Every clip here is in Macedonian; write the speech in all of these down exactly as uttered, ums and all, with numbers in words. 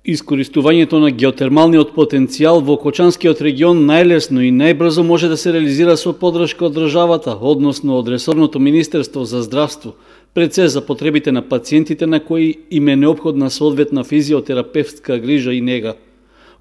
Искористувањето на геотермалниот потенцијал во Кочанскиот регион најлесно и најбрзо може да се реализира со поддршка од државата, односно од ресорното Министерство за здравство, пред се за потребите на пациентите на кои им е неопходна соодветна физиотерапевтска грижа и нега.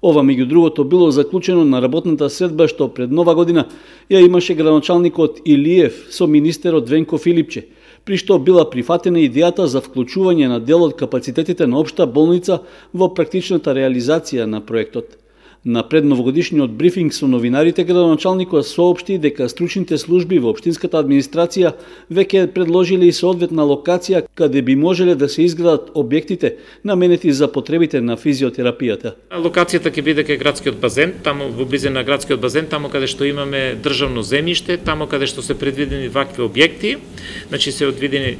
Ова, меѓу другото, било заклучено на работната средба што пред нова година ја имаше градоначалникот Илиев со министерот Венко Филипче, при што била прифатена идејата за вклучување на дел од капацитетите на општа болница во практичната реализација на проектот. На предновогодишниот брифинг со новинарите, градоначалникот соопшти дека стручните служби во општинската администрација веќе предложиле и соодветна локација каде би можеле да се изградат објектите наменети за потребите на физиотерапијата. Локацијата ќе биде кај градскиот базен, таму во близина на градскиот базен, таму каде што имаме државно земјиште, таму каде што се предвидени вакви објекти, значи се одвидени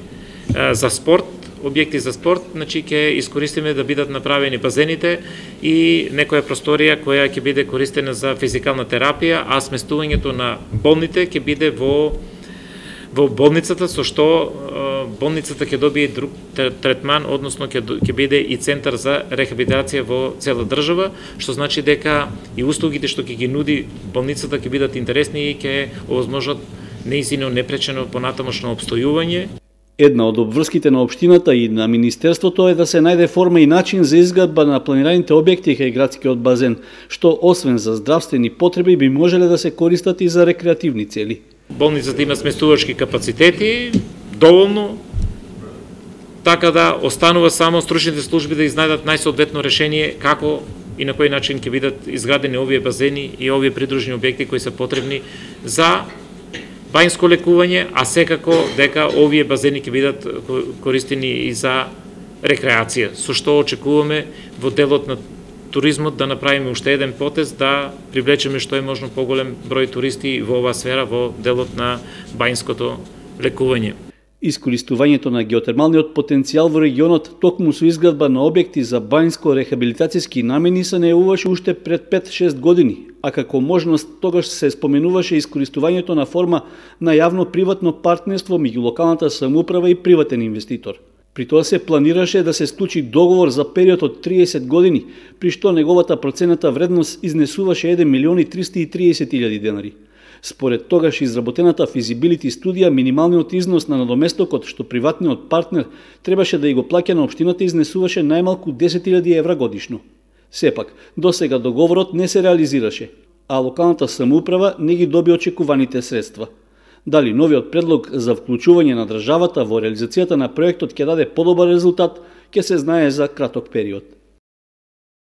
за спорт, објекти за спорт, значи ќе искористиме да бидат направени базените и некоја просторија која ќе биде користена за физикална терапија, а сместувањето на болните ќе биде во во болницата, со што болницата ќе добие друг третман, односно ќе ќе биде и центар за рехабилитација во цела држава, што значи дека и услугите што ќе ги нуди болницата ќе бидат интересни и ќе овозможат неизино непречено понатамошно обстојување. Една од обврските на општината и на Министерството е да се најде форма и начин за изградба на планираните објекти кај градскиот базен, што освен за здравствени потреби би можеле да се користат и за рекреативни цели. Болницата има сместувачки капацитети, доволно, така да останува само стручните служби да изнајдат најсоодветно решение како и на кој начин ќе бидат изградени овие базени и овие придружни објекти кои се потребни за бајнско лекување, а секако дека овие базени ќе бидат користени и за рекреација, со што очекуваме во делот на туризмот да направиме уште еден потез да привлечеме што е можно поголем број туристи во оваа сфера во делот на бајнското лекување. Искористувањето на геотермалниот потенцијал во регионот токму со изградба на објекти за бајнско-рехабилитацијски намени се најавуваше уште пред пет-шест години, а како можност тогаш се споменуваше искористувањето на форма на јавно-приватно партнерство меѓу локалната самоуправа и приватен инвеститор. При тоа се планираше да се склучи договор за период од триесет години, при што неговата процената вредност изнесуваше еден милион и триста и триесет илјади денари. Според тогаш изработената физибилити студија, минималниот износ на надоместокот што приватниот партнер требаше да и го плаќа на општината изнесуваше најмалку десет илјади евра годишно. Сепак, досега договорот не се реализираше, а локалната самоуправа не ги доби очекуваните средства. Дали новиот предлог за вклучување на државата во реализацијата на проектот ќе даде подобар резултат, ќе се знае за краток период.